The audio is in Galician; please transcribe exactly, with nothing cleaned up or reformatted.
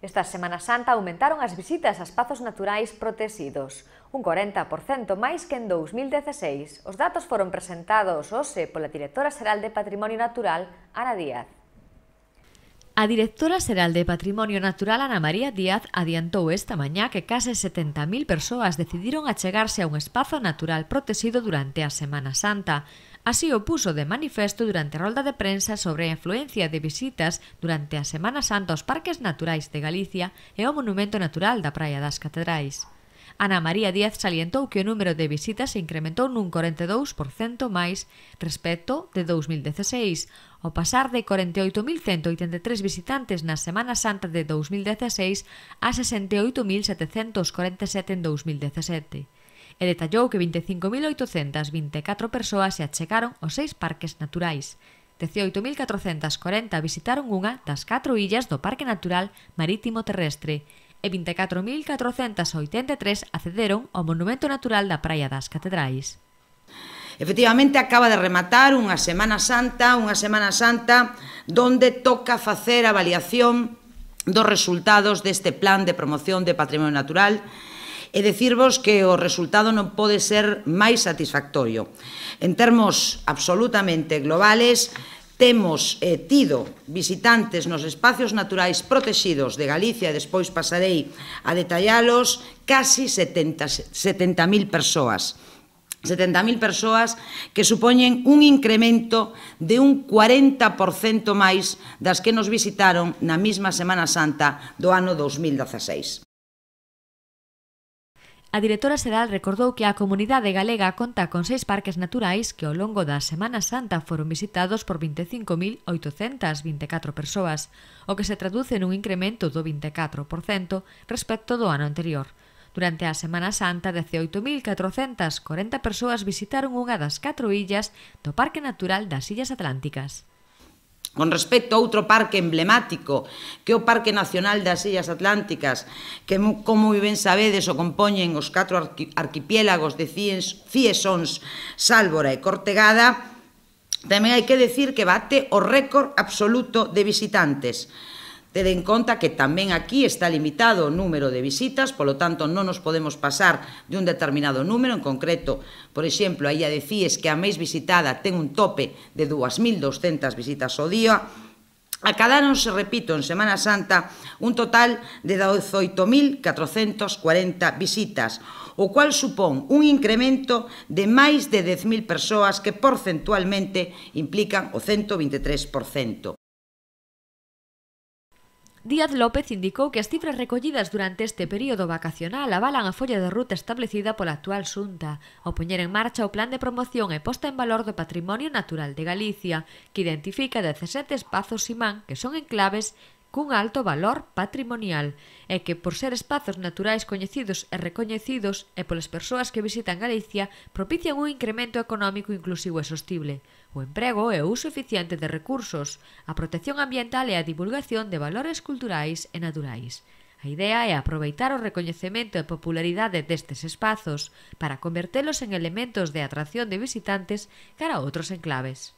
Esta Semana Santa aumentaron as visitas a espazos naturais protegidos, un corenta por cento máis que en dous mil dieciséis. Os datos foron presentados hoxe pola directora xeral de Patrimonio Natural, Ana Díaz. A directora xeral de Patrimonio Natural, Ana María Díaz, adiantou esta mañá que case setenta mil persoas decidiron achegarse a un espazo natural protegido durante a Semana Santa. Así o puso de manifesto durante a rolda de prensa sobre a influencia de visitas durante a Semana Santa aos parques naturais de Galicia e ao Monumento Natural da Praia das Catedrais. Ana María Díaz salientou que o número de visitas se incrementou nun corenta e dous por cento máis respecto de dous mil dieciséis, ao pasar de corenta e oito mil cento oitenta e tres visitantes na Semana Santa de dous mil dieciséis a sesenta e oito mil setecentos corenta e sete en dous mil diecisiete. E detallou que vinte e cinco mil oitocentas vinte e catro persoas se achegaron aos seis parques naturais. dezioito mil catrocentas corenta visitaron unha das catro illas do Parque Natural Marítimo Terrestre e vinte e catro mil catrocentas oitenta e tres accederon ao Monumento Natural da Praia das Catedrais. Efectivamente, acaba de rematar unha Semana Santa, unha Semana Santa donde toca facer a avaliación dos resultados deste plan de promoción de patrimonio natural e dicirvos que o resultado non pode ser máis satisfactorio. En termos absolutamente globales, temos eh, tido visitantes nos espacios naturais protegidos de Galicia, e despois pasarei a detallalos, casi setenta mil persoas. setenta mil persoas que supoñen un incremento de un cuarenta por cento máis das que nos visitaron na mesma Semana Santa do ano dous mil dieciséis. A directora xeral recordou que a comunidade galega conta con seis parques naturais que ao longo da Semana Santa foron visitados por vinte e cinco mil oitocentas vinte e catro persoas, o que se traduce nun incremento do vinte e catro por cento respecto do ano anterior. Durante a Semana Santa, dezioito mil catrocentas corenta persoas visitaron unha das catro illas do Parque Natural das Illas Atlánticas. Con respecto a outro parque emblemático, que é o Parque Nacional das Illas Atlánticas, que, como ben sabedes, o compoñen os catro arquipiélagos de Ciesóns, Sálvora e Cortegada, tamén hai que decir que bate o récord absoluto de visitantes. Tede en conta que tamén aquí está limitado o número de visitas, polo tanto non nos podemos pasar de un determinado número, en concreto, por exemplo, a illa de Cies, que a máis visitada ten un tope de dúas mil douscentas visitas ao día. Acadáronse, repito, en Semana Santa un total de dezoito mil catrocentas cuarenta visitas, o cual supón un incremento de máis de dez mil persoas que porcentualmente implican o cento vinte e tres por cento. Díaz López indicou que as cifras recollidas durante este período vacacional avalan a folla de ruta establecida pola actual Xunta ao poñer en marcha o plan de promoción e posta en valor do patrimonio natural de Galicia, que identifica dezasete espazos imán que son enclaves cun alto valor patrimonial e que, por ser espazos naturais coñecidos e recoñecidos e polas persoas que visitan Galicia, propician un incremento económico inclusivo e sostible, o emprego e o uso eficiente de recursos, a protección ambiental e a divulgación de valores culturais e naturais. A idea é aproveitar o recoñecemento e popularidade destes espazos para convertelos en elementos de atracción de visitantes cara a outros enclaves.